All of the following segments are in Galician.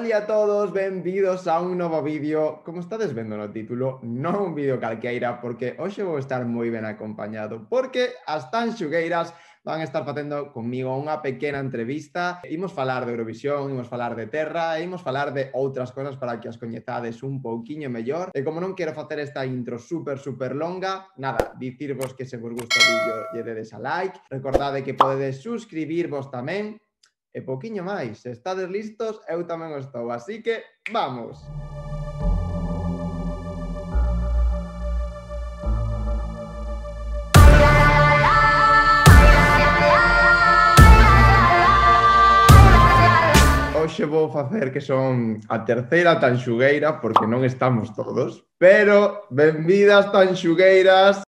Ola a todos, benvidos a un novo vídeo. Como estades vendo no título, non un vídeo calqueira, porque hoxe vou estar moi ben acompañado, porque as tanxugueiras van estar facendo comigo unha pequena entrevista. Imos falar de Eurovisión, imos falar de terra, e imos falar de outras cosas para que as coñezades un pouquiño mellor. E como non quero facer esta intro super longa, nada, dicirvos que se vos gusta o vídeo lle dedes a like. Recordade que podedes suscribirvos tamén. E pouquiño máis, se estades listos, eu tamén o estou, así que vamos! Hoxe vou facer que son a terceira tanxugueira, porque non estamos todos, pero benvidas tanxugueiras!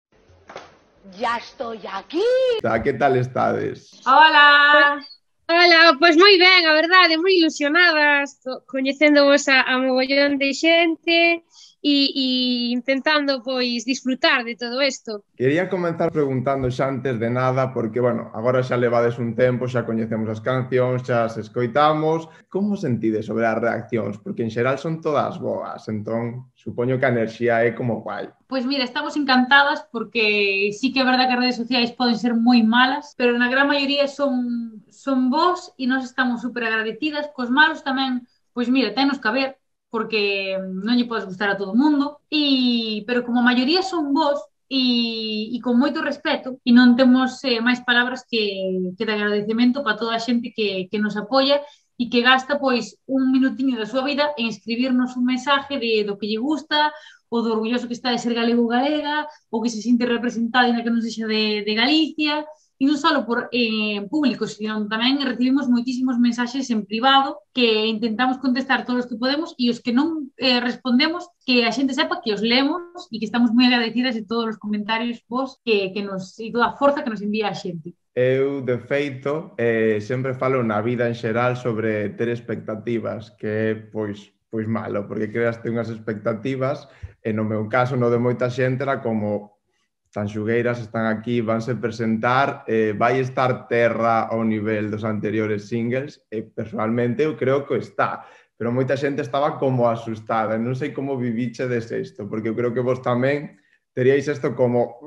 ¡Ya estoy aquí! Que tal estades? Hola! Ola, pois moi ben, a verdade, moi ilusionadas, coñecéndovos a mogollón de xente e intentando, pois, disfrutar de todo isto. Quería comenzar preguntando xa antes de nada, porque, bueno, agora xa levades un tempo, xa coñecemos as cancións, xa as escoitamos. Como sentides sobre as reaccións? Porque en xeral son todas boas, entón, supoño que a enerxía é como guai. Pois mira, estamos encantadas porque sí que é verdade que as redes sociais poden ser moi malas, pero na gran maioría son bons e nós estamos super agradecidas. Cos malos tamén, pois mira, tenos que haber, porque non lle podes gustar a todo o mundo, pero como a maioría son bons e con moito respeto, e non temos máis palabras que de agradecemento para toda a xente que nos apoia e que gasta pois un minutiño da súa vida en escribirnos un mensaje do que lle gusta, ou do orgulloso que está de ser galego ou galega, ou que se sinte representado na que non sexa de Galicia, e non só por público, sino tamén recibimos moitísimos mensaxes en privado que intentamos contestar todos os que podemos, e os que non respondemos, que a xente sepa que os lemos e que estamos moi agradecidas de todos os comentarios vos e toda a forza que nos envía a xente. Eu, de feito, sempre falo na vida en xeral sobre ter expectativas, que é, pois malo, porque creaste unhas expectativas, e no meu caso, no de moita xente, era como tanxugueiras están aquí, vanse presentar, vai estar terra ao nivel dos anteriores singles, e personalmente eu creo que está, pero moita xente estaba como asustada, non sei como vivichedes isto, porque eu creo que vos tamén teríais isto como...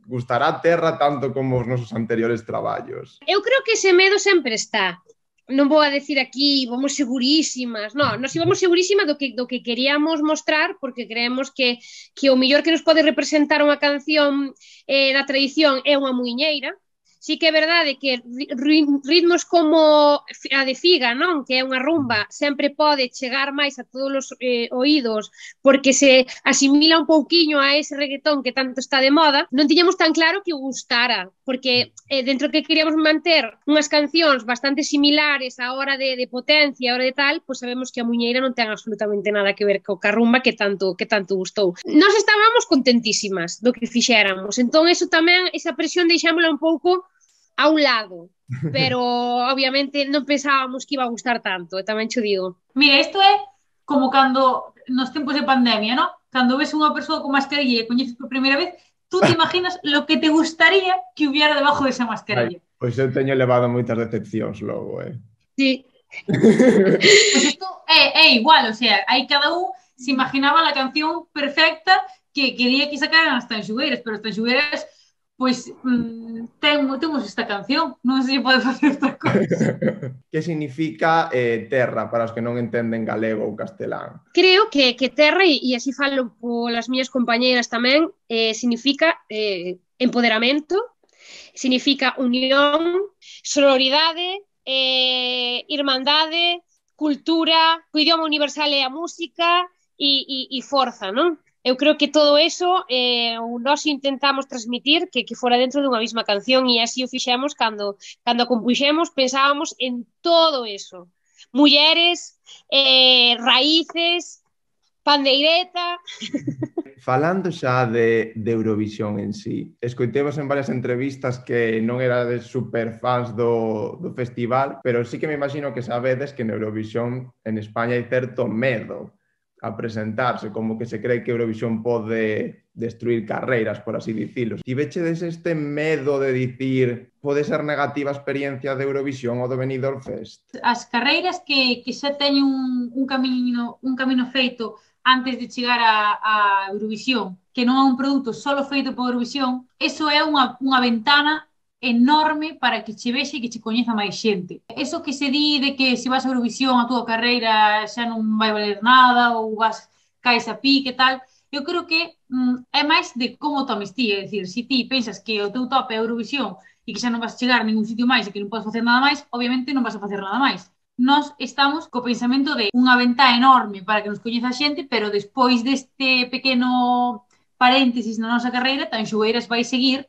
gustará a terra tanto como os nosos anteriores traballos? Eu creo que ese medo sempre está. Non vou a decir aquí, vamos segurísimas. Non, nos íbamos segurísimas do que queríamos mostrar, porque creemos que o mellor que nos pode representar unha canción da tradición é unha muiñeira. Sí que é verdade que ritmos como a de Figa, non? Que é unha rumba, sempre pode chegar máis a todos os oídos porque se asimila un pouquiño a ese reggaetón que tanto está de moda. Non tiñamos tan claro que gustara, porque dentro que queríamos manter unhas cancións bastante similares a hora de potencia, a hora de tal, pois sabemos que a muñeira non ten absolutamente nada que ver co ca rumba que tanto gustou. Nós estábamos contentísimas do que fixéramos, entón eso tamén, esa presión deixámola un pouco a un lado, pero obviamente non pensábamos que iba a gustar tanto, e tamén cho digo. Mira, isto é como cando nos tempos de pandemia, ¿no? Cando ves unha persoa con mascarilla e coñeces por primeira vez, tú te imaginas lo que te gustaría que hubiera debajo de esa mascarilla. Pois eu teño levado moitas decepcións logo, Sí. Pois isto é igual, o sea, aí cada un se imaginaba a canción perfecta que quería que sacaran as tanxugueiras, pero as tanxugueiras pois temos esta canción, non se pode facer outra cousa. Que significa terra para os que non entenden galego ou castelán? Creo que terra, e así falo polas miñas compañeiras tamén, significa empoderamento, significa unión, sororidade, irmandade, cultura, o idioma universal é a música e forza, non? Eu creo que todo eso nós intentamos transmitir que fora dentro dunha mesma canción, e así o fixemos cando a compuxemos, pensábamos en todo eso. Mulleres, raíces, pandeireta... Falando xa de Eurovisión en sí, escoitemos en varias entrevistas que non erades super fans do festival, pero sí que me imagino que sabedes que en Eurovisión en España hai certo medo a presentarse, como que se cree que Eurovisión pode destruir carreiras, por así dicilo. Tivechedes este medo de dicir pode ser negativa a experiencia de Eurovisión ou do Benidorm Fest? As carreiras que xa teñen un camino feito antes de chegar a Eurovisión, que non é un produto solo feito por Eurovisión, eso é unha ventana enorme para que che vexe e que che coñeza máis xente. Eso que se di de que se vas a Eurovisión a túa carreira xa non vai valer nada ou caes a pique e tal, eu creo que é máis de como tomes ti, é dicir, se ti pensas que o teu top é Eurovisión e que xa non vas chegar a ningún sitio máis e que non podes facer nada máis, obviamente non vas a facer nada máis. Nós estamos co pensamento de unha ventá enorme para que nos coñeza a xente, pero despois deste pequeno paréntesis na nosa carreira, tan Xogueiras vai seguir.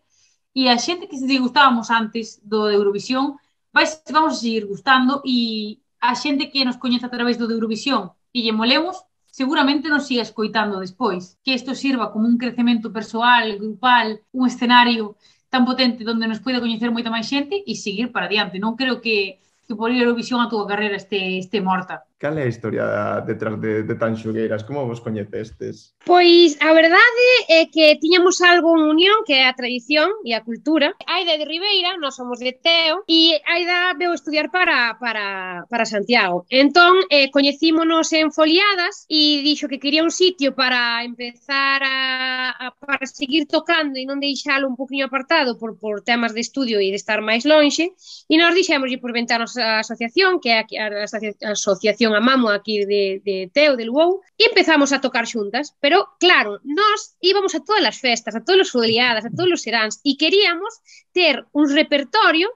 E a xente que se gustábamos antes do de Eurovisión vamos a seguir gustando, e a xente que nos coñece a través do de Eurovisión e lle molemos, seguramente nos siga escoitando despois. Que isto sirva como un crecemento persoal, grupal, un escenario tan potente onde nos poida coñecer moita máis xente e seguir para diante. Non creo que por ir a Eurovisión a túa carreira este morta. Cal é a historia detrás de Tan Xogueiras? Como vos coñecestes? Pois a verdade é que tiñamos algo en unión, que é a tradición e a cultura. Aida de Ribeira, nós somos de Teo, e Aida veu estudiar para Santiago. Entón, coñecímonos en Foliadas e dixo que quería un sitio para empezar para seguir tocando e non deixalo un poquinho apartado por temas de estudio e de estar máis lonxe, e nós dixémoslle por ventarnos a asociación, que é a asociación Amamo aquí de Teo, de Luou, e empezamos a tocar xuntas. Pero, claro, nós íbamos a todas as festas, a todas as foliadas, a todos os seráns, e queríamos ter un repertorio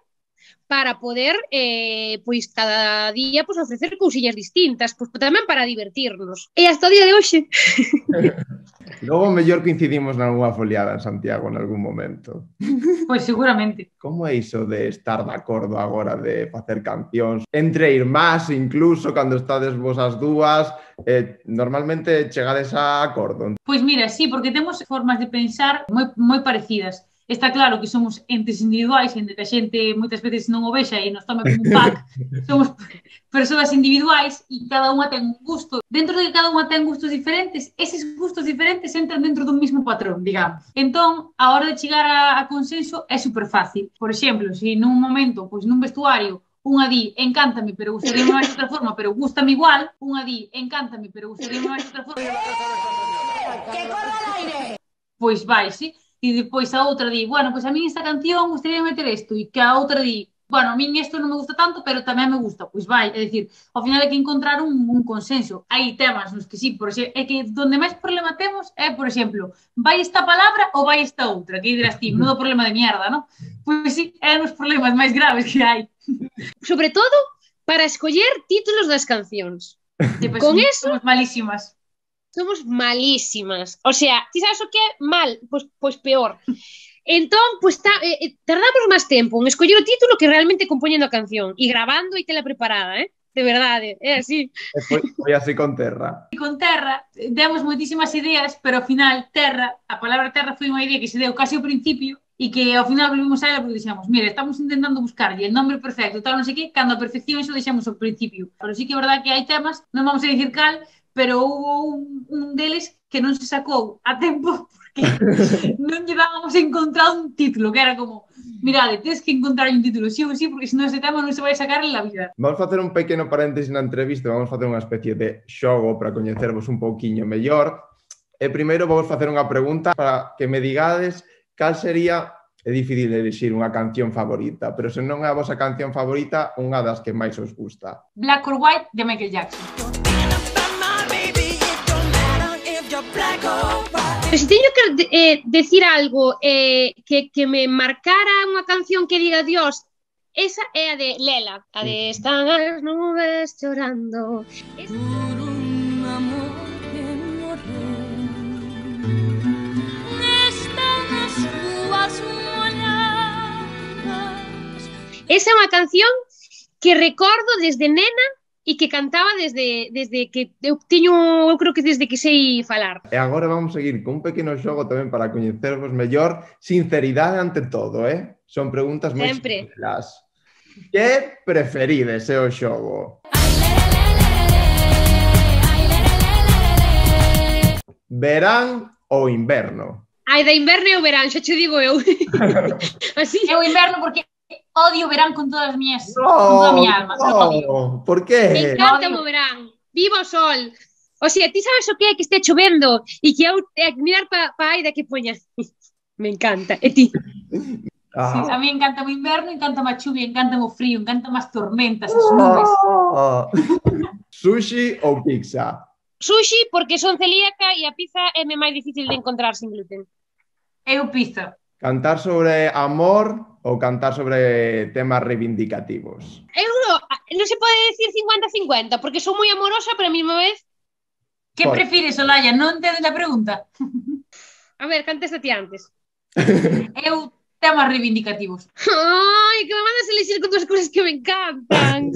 para poder, pois, cada día pois, ofrecer cousillas distintas, pois, tamén para divertirnos. E hasta o día de hoxe. Logo, mellor coincidimos nalgúna foliada en Santiago en algún momento. Pois seguramente. Como é iso de estar de acordo agora de facer cancións? Entre irmás, incluso, cando estades vos as dúas, normalmente chegades a acordo? Pois mira, sí, porque temos formas de pensar moi parecidas. Está claro que somos entes individuais, en que a xente moitas veces non o vexa e nos toma como un pack. Somos persoas individuais e cada unha ten un gusto. Dentro de que cada unha ten gustos diferentes, eses gustos diferentes entran dentro dun mismo patrón, digamos. Entón, a hora de chegar a consenso é super fácil. Por exemplo, se nun momento, pois nun vestuario, unha di, encántame, pero gustaría máis de outra forma, pero gústame igual. Unha di, encántame, pero gustaría máis de outra forma. ¡Que corra el aire! Pois vai, sí. E depois a outra di, bueno, pois a mí esta canción gustaría meter isto, e que a outra di, bueno, a mí isto non me gusta tanto, pero tamén me gusta, pois vai, é dicir, ao final hai que encontrar un consenso. Hai temas nos que sí, por exemplo, é que donde máis problema temos é, por exemplo, vai esta palabra ou vai esta outra, que dirás ti, non é problema de mierda, non? Pois sí, é os problemas máis graves que hai. Sobre todo, para escoller títulos das cancións. Pois, con eso somos malísimas. Somos malísimas. O sea, ti sabes o que é mal? Pois peor. Entón, pois tardamos máis tempo en escoller o título que realmente compoñendo a canción e grabando e tela preparada, de verdade, é así. Foi así con Terra. Con Terra demos moitísimas ideas, pero ao final a palabra Terra foi unha idea que se deu casi ao principio e que ao final volvimos a ela porque dixemos, mira, estamos intentando buscarlle el nombre perfecto, tal, non sei que, cando a perfección iso deixamos ao principio. Pero sí que é verdade que hai temas, non vamos a dicir cal, pero houve un deles que non se sacou a tempo porque non llevábamos encontrado un título, que era como, mirade, tens que encontrar un título, sí ou sí, porque senón ese tema non se vai sacar en la vida. Vamos facer un pequeno paréntesis na entrevista, vamos facer unha especie de xogo para coñecervos un pouquiño mellor. E primeiro vamos facer unha pregunta para que me digades cal sería, é difícil elegir unha canción favorita, pero se non é a vosa canción favorita, unha das que máis os gusta. Black or White, de Michael Jackson. Pero se teño que decir algo que me marcara unha canción que diga Dios, esa é a de Lela, a de Están as nubes chorando. Por un amor que morreu, están as rúas molladas. Esa é unha canción que recordo desde nena e que cantaba desde que eu creo que desde que sei falar. E agora vamos seguir con un pequeno xogo tamén para coñecervos mellor. Sinceridade ante todo, Son preguntas moi sinceras. Que preferides, o xogo? verán ou inverno? Ai, de inverno e o verán, xa che digo eu. Así. É o inverno porque odio o verán con todas as miñas, con toda a miña alma. Lo odio. No, por Me qué? encanta o verán. Viva o sol. O sea, ti sabes o que é que este chovendo e que eu mirar pa aida que poña. Me encanta. E ti? Sí, a mí encanta o inverno, encanta a chuvia, encanta o frío, encanta as tormentas, as nubes. Sushi ou pizza? Sushi porque son celíaca e a pizza é me máis difícil de encontrar sin gluten. Eu pizza. Cantar sobre amor ou cantar sobre temas reivindicativos? Eu non se pode decir 50-50 porque sou moi amorosa, pero a mesma vez... Que Por- prefires, Olaya? Non entendes a pregunta? A ver, contéstate antes. Eu temas reivindicativos. Ai, que me mandas elixir con dúas cousas que me encantan.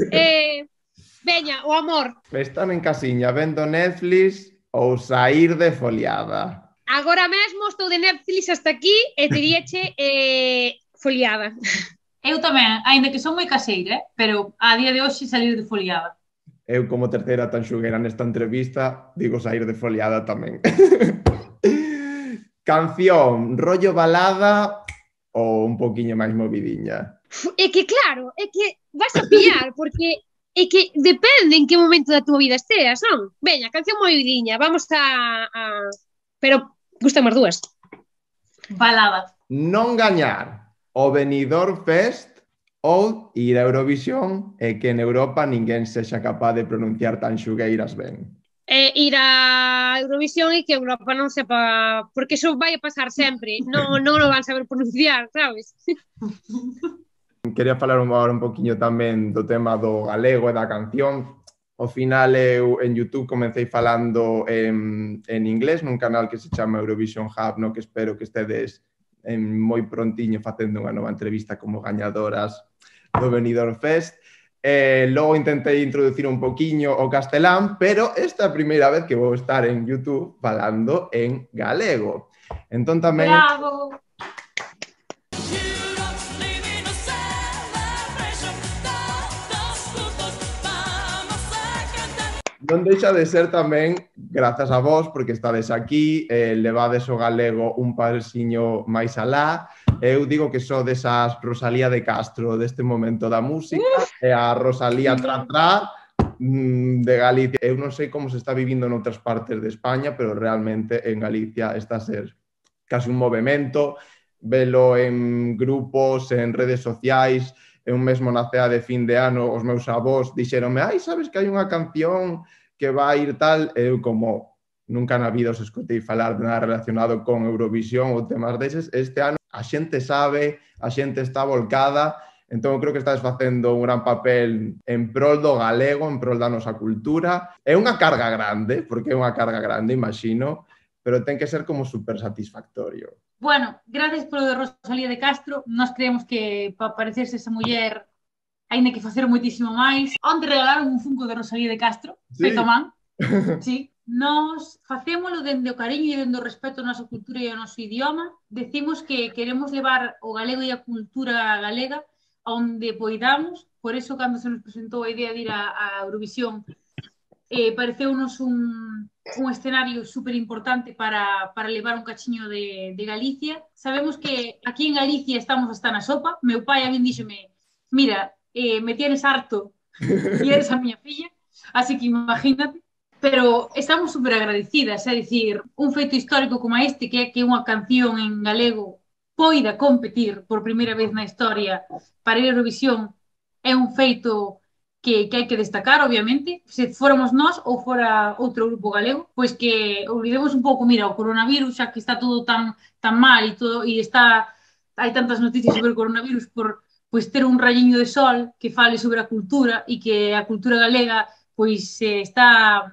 Veña, o amor. Están en casiña vendo Netflix ou sair de foliada? Agora mesmo estou de Netflix hasta aquí e teríache foliada. Eu tamén, aínda que son moi caseira, pero a día de hoxe salir de foliada. Eu, como terceira tanxuguera nesta entrevista, digo sair de foliada tamén. Canción, rollo balada ou un poquinho máis movidiña? É que claro, é que vas a pillar, porque é que depende en que momento da tua vida esteas, non? Veña, canción movidiña, vamos a... Pero gustan as dúas. Balada. Non gañar o Benidorm Fest ou ir a Eurovisión e que en Europa ninguén sexa capaz de pronunciar tanxugueiras ben. Ir a Eurovisión e que Europa non sepa, porque eso vai a pasar sempre, non o van saber pronunciar, sabes? Quería falar agora un poquinho tamén do tema do galego e da canción. Ao final eu en YouTube comecei falando en inglés nun canal que se chama Eurovision Hub, no que espero que estedes moi prontiño facendo unha nova entrevista como gañadoras do Benidorm Fest. Logo intentei introducir un poquinho o castelán, pero esta é a primeira vez que vou estar en YouTube falando en galego. Entón tamén... Bravo! Non deixa de ser tamén, grazas a vos, porque estades aquí, levades o galego un pasiño máis alá. Eu digo que só desas Rosalía de Castro deste momento da música e a Rosalía Tra de Galicia. Eu non sei como se está vivindo noutras partes de España, pero realmente en Galicia está a ser casi un movimento, velo en grupos, en redes sociais. Eu mesmo na cea de fin de ano os meus avós dixeronme, ai, sabes que hai unha canción que vai ir tal, eu como nunca na vida os escutei falar de nada relacionado con Eurovisión ou temas deses, este ano a xente sabe, a xente está volcada, entón creo que estás facendo un gran papel en prol do galego, en prol da nosa cultura. É unha carga grande, porque é unha carga grande, imagino, pero ten que ser como super satisfactorio. Bueno, gracias polo de Rosalía de Castro. Nós creemos que para parecerse esa muller aínda que facer moitísimo máis. Onte regalaron un funko de Rosalía de Castro, Sí. feito a man. Sí. Nós facémolo dende o cariño e dende o respeto ao nosa cultura e ao noso idioma. Decimos que queremos levar o galego e a cultura galega onde poidamos. Por eso, cando se nos presentou a idea de ir a Eurovisión, pareceunos un escenario super importante para levar un cachiño de Galicia. Sabemos que aquí en Galicia estamos hasta na sopa. Meu pai a min díxome, mira, me tienes harto e eres a miña filla, así que imagínate. Pero estamos super agradecidas, é dicir, un feito histórico como este, que é que unha canción en galego poida competir por primeira vez na historia para ir a Eurovisión, é un feito que hai que destacar, obviamente. Se fóramos nós ou fora outro grupo galego, pois que olvidemos un pouco, mira, o coronavirus, xa que está todo tan mal e todo, e hai tantas noticias sobre o coronavirus, por pois ter un rayiño de sol que fale sobre a cultura e que a cultura galega pois está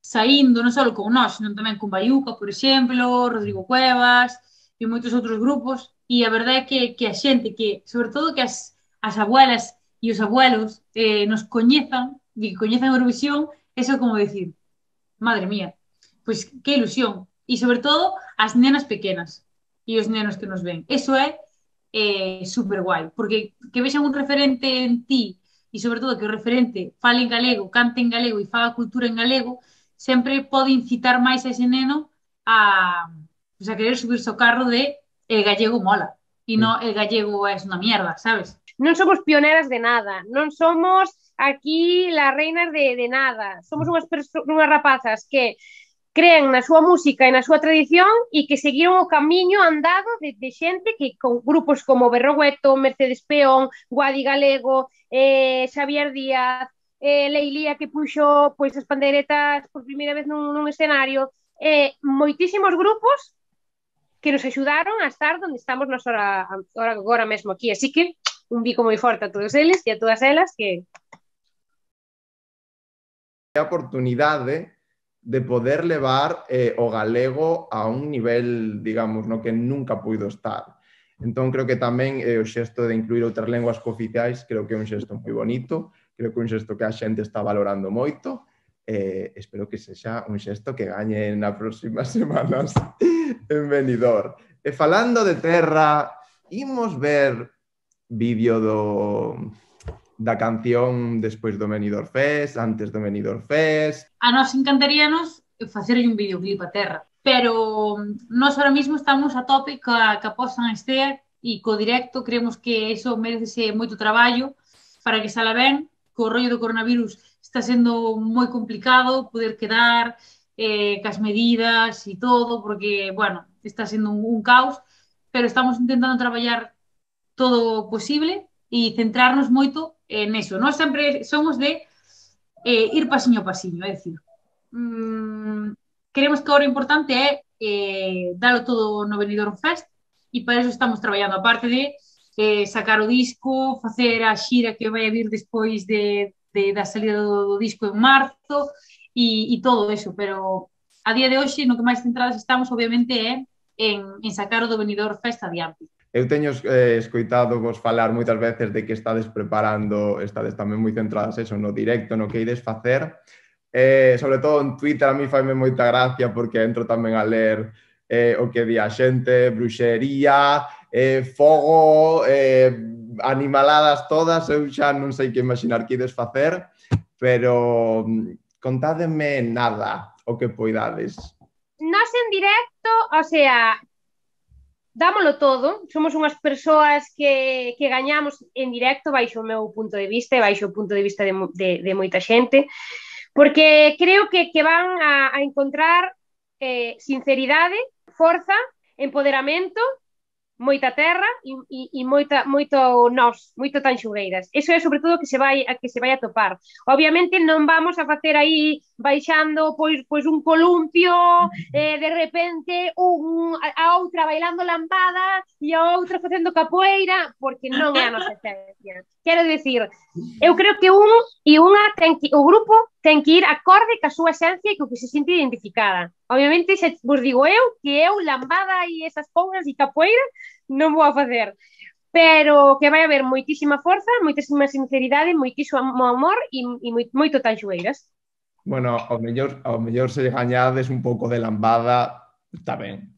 saindo non só con nós, senón tamén con Baiuca, por exemplo, Rodrigo Cuevas e moitos outros grupos, e a verdade é que a xente, que sobre todo que as abuelas e os abuelos nos coñezan, e que coñezan Eurovisión, eso é como decir, madre mía, pois que ilusión. E sobre todo as nenas pequenas e os nenos que nos ven. Eso é super guai, porque que vexan un referente en ti e sobre todo que o referente fale en galego, cante en galego e faga cultura en galego, sempre pode incitar máis a ese neno pues a querer subirse ao carro de el gallego mola e non el gallego es unha mierda, sabes? Non somos pioneras de nada, non somos aquí las reinas de nada, somos unhas rapazas que creen na súa música e na súa tradición e que seguiron o camiño andado de xente que con grupos como Berrogueto, Mercedes Peón, Guadi Galego, Xavier Díaz, Leilía que puxo pois as pandeiretas por primeira vez nun escenario, moitísimos grupos que nos axudaron a estar onde estamos nos agora mesmo aquí, así que un bico moi forte a todos eles e a todas elas que... A oportunidade de poder levar o galego a un nivel, digamos, no que nunca puido estar. Entón, creo que tamén o xesto de incluir outras lenguas cooficiais, creo que é un xesto moi bonito, creo que é un xesto que a xente está valorando moito, espero que sexa un xesto que gañe nas próximas semanas en Benidorm. E falando de terra, imos ver vídeo da canción despois do Benidorm Fest, antes do Benidorm Fest. A nós encantaríanos facerlle un videoclip a terra, pero nós ahora mismo estamos a tope ca posta en estea e co directo, creemos que eso merece moito traballo para que sala ben, co rollo do coronavirus está sendo moi complicado poder quedar cas medidas e todo, porque, bueno, está sendo un caos, pero estamos intentando traballar todo posible e centrarnos moito neso. Nós sempre somos de ir pasiño a pasiño, é dicir, queremos que agora o importante é dalo todo no Benidorm Fest e para eso estamos traballando, aparte de sacar o disco, facer a xira que vai a vir despois da salida do disco en marzo e todo eso, pero a día de hoxe no que máis centradas estamos obviamente é en sacar o do Benidorm Fest adiante. Eu teño escoitado vos falar moitas veces de que estades preparando, estades tamén moi centradas eso, no directo, no que ides facer. Sobre todo en Twitter a mí faime moita gracia porque entro tamén a ler o que di a xente, bruxería, fogo, animaladas todas, eu xa non sei que imaginar que ides facer, pero contádeme nada o que poidades. Nós en directo, o sea, dámolo todo, somos unhas persoas que gañamos en directo baixo o meu punto de vista e baixo o punto de vista de moita xente, porque creo que van a encontrar sinceridade, forza, empoderamento, moita terra e moito nós, moito tanxugueiras. Eso é sobre todo que se vai a topar. Obviamente non vamos a facer aí baixando pois un columpio, de repente a outra bailando lambada e a outra facendo capoeira, porque non é a nosa esencia. Quero dicir, eu creo que o grupo ten que ir acorde ca súa esencia e co que se sente identificada. Obviamente, xa vos digo que eu lambada e esas cousas e capoeira non vou a facer, pero que vai haber moitísima forza, moitísima sinceridade, moitísimo amor e moito tanxueiras. Bueno, ao mellor se gañades un pouco de lambada, está ben.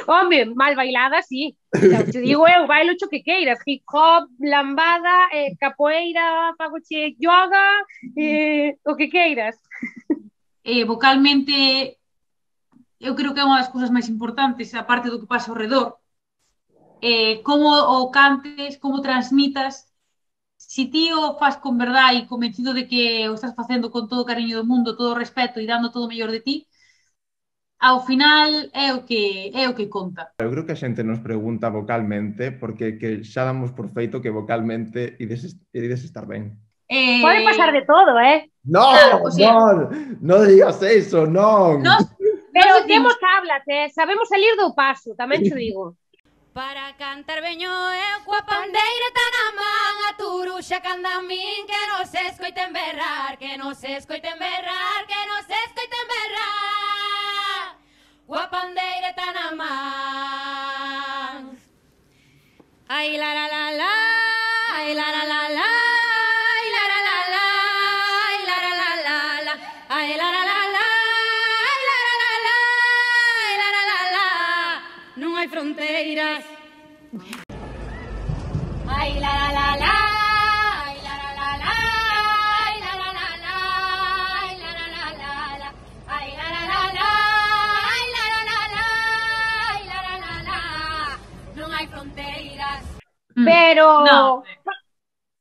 Home, mal bailada, sí. Te digo eu, bailo cho que queiras, hip hop, lambada, capoeira, fagoche yoga, o que queiras. Vocalmente, eu creo que é unha das cousas máis importantes, aparte do que pasa ao redor, como o cantes, como transmitas. Si ti o faz con verdade e convencido de que o estás facendo con todo o cariño do mundo, todo o respeto e dando todo o mellor de ti, ao final é o que conta. Eu creo que a xente nos pregunta vocalmente porque que xa damos por feito que vocalmente ides estar ben. Pode pasar de todo, No, claro, o sea, non digas eso, non. Pero temos hablas, sabemos salir do paso, tamén te digo. Para cantar veño eu coa pandeira tan a man, a turuxa canda a min, que non se escoiten berrar, que non se escoiten berrar, que non se escoiten berrar. Coa pandeira tan a man. Ai la la la la, ai la la la la, ai la la la la, ai la la la la, ai la la la la, ai la la la la, ai la la la la. Non hai fronteiras. Ai la la la la, ai la la la la, ai la la la la, ai la la la la, ai la la la la, ai pero No,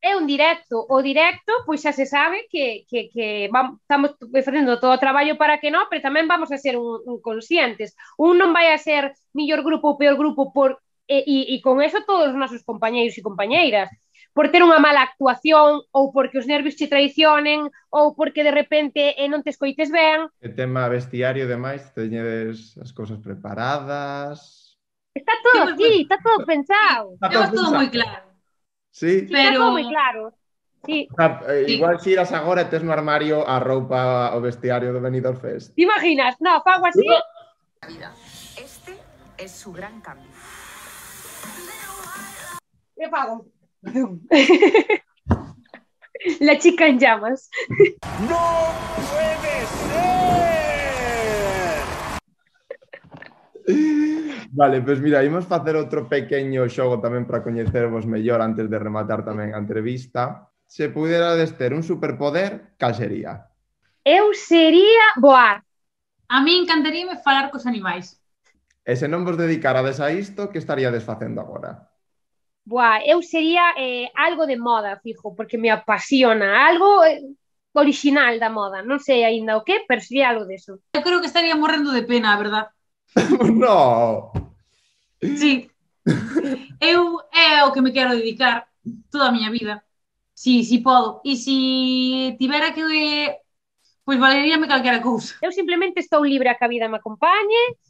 é un directo. O directo, pois xa se sabe que estamos facendo todo o traballo para que non, pero tamén vamos a ser un conscientes. Un non vai a ser millor grupo ou peor grupo e con eso todos os nosos compañeiros e compañeiras. Por ter unha mala actuación ou porque os nervios che traicionen ou porque de repente non te escoites ben. E tema vestiario e demais, teñedes as cousas preparadas? Está todo aquí, está todo pensado. temos todo moi claro. Sí? Sí, está Pero- todo moi claro. Sí. Igual si iras agora e tes no armario a roupa o vestiario do Benidorm Fest. ¿Te imaginas? No, fago así. Este es su gran cambio. Me fago. La chica en llamas. Vale, pois mira, imos facer outro pequeño xogo tamén para coñecervos mellor antes de rematar tamén a entrevista. Se puderades ter un superpoder, cal sería? Eu sería voar. A mí encantaríame falar cos animais. E se non vos dedicarades a isto, que estaríades facendo agora? Buah, eu sería algo de moda, fijo, porque me apasiona. Algo original da moda. Non sei aínda o que, pero sería algo deso. Eu creo que estaría morrendo de pena, a verdad. No! Sí. Eu é o que me quero dedicar toda a miña vida. Si podo. E si tivera que... Pois valeríame calquera cousa. Eu simplemente estou libre a que a vida me acompañe,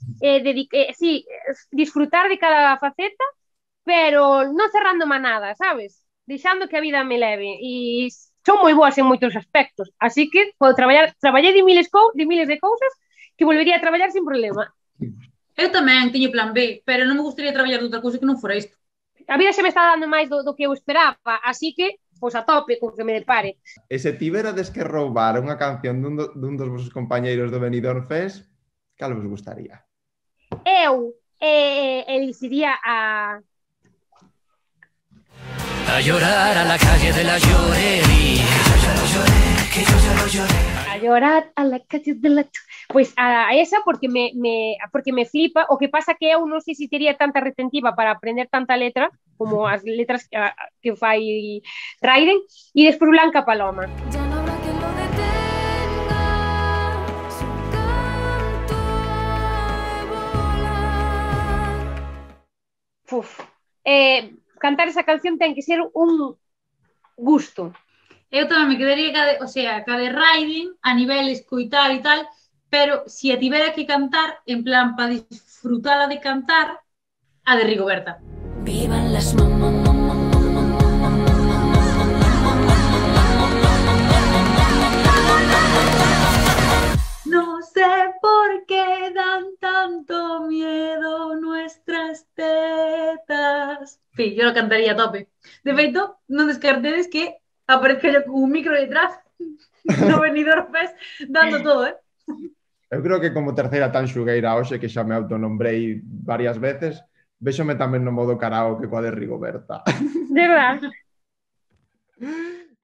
sí, disfrutar de cada faceta, pero non cerrándome a nada, sabes? Deixando que a vida me leve. E son moi boas en moitos aspectos, así que podo traballei de miles de cousas que volvería a traballar sin problema. Eu tamén teño plan B, pero non me gustaría traballar de outra cousa que non fora isto. A vida se me está dando máis do que eu esperaba, así que, pois a tope con que me depare. E se tiverades que roubar unha canción dun dos vosos compañeiros do Benidorm Fest, cal vos gustaría? Eu elixiría a llorar a la calle de la llorería. Que yo ya lo lloré. a llorar a la calle de la... Pois a esa porque me flipa. O que pasa que eu non sei se tería tanta retentiva para aprender tanta letra como as letras que fai Raiden, e despois Blanca Paloma. Ya no habrá quien lo detenga, su canto de volar. Uf. Cantar esa canción ten que ser un gusto. Eu tamén me quedaría ca de Raiden a nivel escoitar e tal, pero si a tivera que cantar, en plan, para disfrutala de cantar, a de Rigoberta. Vivan las No sé por qué dan tanto miedo nuestras tetas. Sí, yo lo cantaría a tope. De feito, non descartedes que aparezca yo con un micro detrás no Benidorm Fest dando todo, Eu creo que como terceira tan xugueira hoxe, que xa me autonombrei varias veces, véxome tamén no modo karaoke coa de Rigoberta. De verdad.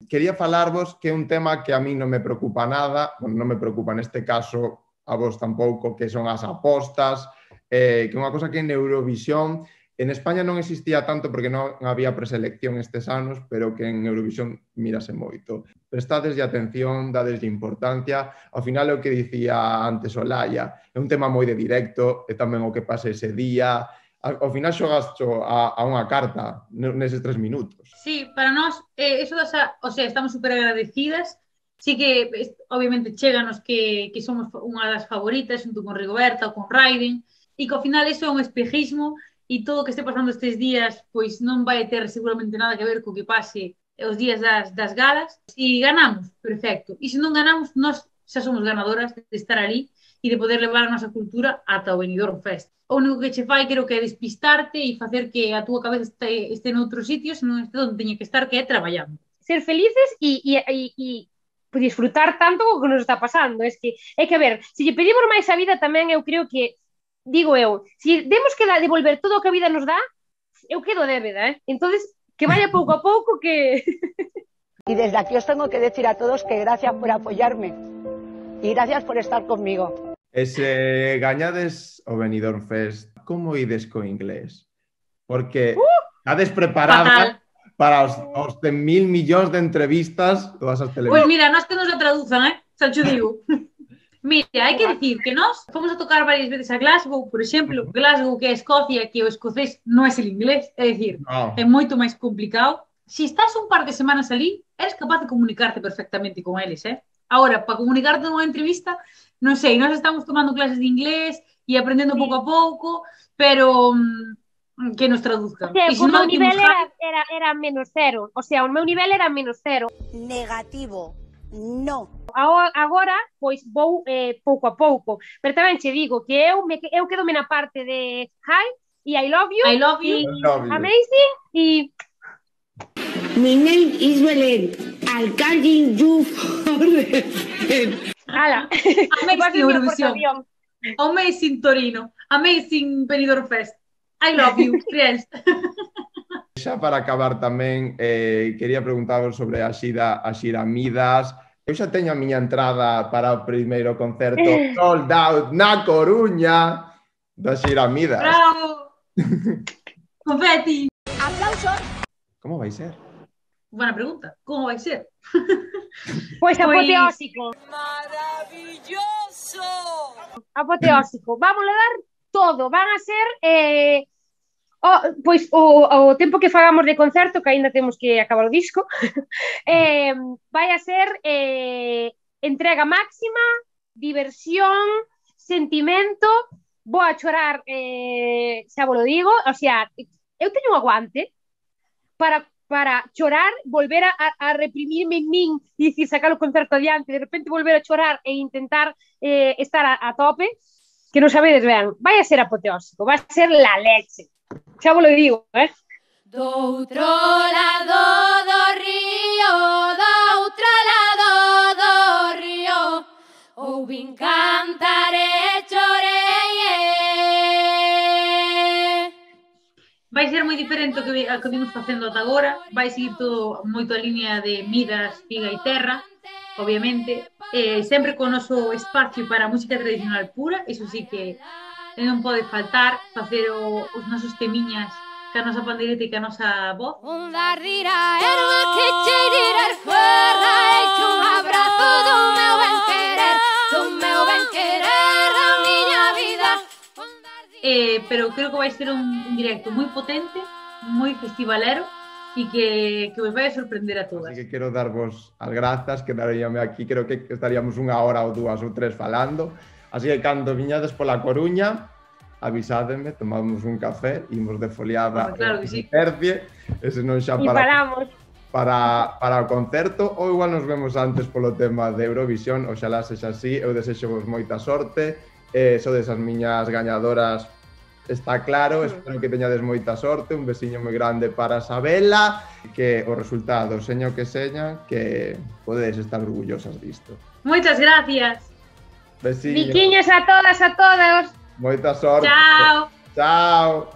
Quería falarvos que é un tema que a mí non me preocupa nada, bueno, non me preocupa neste caso, a vos tampouco, que son as apostas, que é unha cosa que en Eurovisión, en España non existía tanto porque non había preselección estes anos, pero que en Eurovisión mírase moito. Prestadeslle atención, dadeslle importancia, ao final é o que dicía antes Olaya, é un tema moi de directo, é tamén o que pase ese día, ao final xogas a unha carta neses 3 minutos. Sí, para nós, eso estamos super agradecidas. Sí que, obviamente, cheganos que somos unha das favoritas, junto con Rigoberta ou con Raiden, e que ao final eso é un espejismo, e todo o que este pasando estes días, pois non vai ter seguramente nada que ver co que pase os días das galas. E ganamos, perfecto. E se non ganamos, nós xa somos ganadoras de estar ali e de poder levar a nosa cultura ata o Benidorm Fest. O único que che fai, creo que é despistarte e facer que a túa cabeza este noutro sitio, se non este onde teña que estar, que é traballando. Ser felices e disfrutar tanto co que nos está pasando. É que, a ver, se lle pedimos máis a vida tamén, eu creo que, digo eu, se demos que devolver todo o que a vida nos dá, eu quedo débeda, Entonces, que vaya pouco a pouco, que... Y desde aquí os tengo que decir a todos que gracias por apoyarme y gracias por estar conmigo. E se gañades o Benidorm Fest, como ides co inglés? Porque estades preparadas, para os 100.000 millóns de entrevistas todas as televisões. Pois mira, nós que nos a traduzan, xa te digo. Mira, hai que dicir que nós fomos a tocar varias veces a Glasgow, por exemplo, Glasgow que é Escocia, que o escocés non é el inglés, é dicir, é moito máis complicado. Se estás un par de semanas ali, eres capaz de comunicarte perfectamente con eles, Ahora, para comunicarte nunha entrevista, non sei, nós estamos tomando clases de inglés e aprendendo pouco a pouco, pero que nos traduzcan. O sea, o meu nivel era menos cero. O sea, o meu nivel era menos cero. Negativo. No. Agora, pois, vou pouco a pouco. Pero tamén che digo que eu quedome na parte de hi e I love you. I love you. Amazing e... My name is Belén. I'll calling you forever. Ala. Amazing Eurovisión. Amazing Torino. Amazing Benidorm Fest. I love you, friends. Xa para acabar tamén, quería preguntaros sobre a xira Midas. Eu xa teño a miña entrada para o primeiro concerto sold out na Coruña da xira Midas. Bravo! Confetti! Aplausos. Como vai ser? Buena pregunta. Como vai ser? Pois apoteósico. Maravilloso. Apoteósico. Vamos a dar todo. Van a ser... pois o tempo que fagamos de concerto, que aínda temos que acabar o disco, vai a ser entrega máxima, diversión, sentimento, vou a chorar, xa vos lo digo, o sea, eu teño un aguante para chorar, volver a reprimirme en min e dicir, sacar o concerto adiante, de repente volver a chorar e intentar estar a tope, que non sabedes ben, vai a ser apoteósico, vai a ser la leche. Xa vos lo digo, Do outro lado do río, ouvin cantar e chorei. Vai ser moi diferente ao que vimos facendo ata agora, vai seguir todo moito a línea de Midas, Figa e Terra, obviamente, sempre con o noso espacio para a música tradicional pura, iso sí que non pode faltar facer os nosos temiñas ca nosa pandeireta e ca nosa voz. Onda rira, erva que cheirira er fuera, echo un abrazo do meu ben querer da miña vida. Pero creo que vai ser un directo moi potente, moi festivalero e que vos vai a sorprender a todas. Así que quero darvos as grazas, quedaríame aquí, creo que estaríamos unha hora ou dúas ou tres falando. Así que cando viñades pola Coruña, avisádeme, tomamos un café, imos de foliada claro que sí. Tercie, ese non xa para o concerto, ou igual nos vemos antes polo tema de Eurovisión, oxalá sexa así, eu desexo vos moita sorte, sodes as miñas gañadoras, está claro, espero que teñades moita sorte, un besiño moi grande para Sabela, que o resultado, seña o que seña, que podedes estar orgullosas disto. Moitas gracias. Besiño. Biquiños a todas, a todos. Moita sorte. Chao. Chao.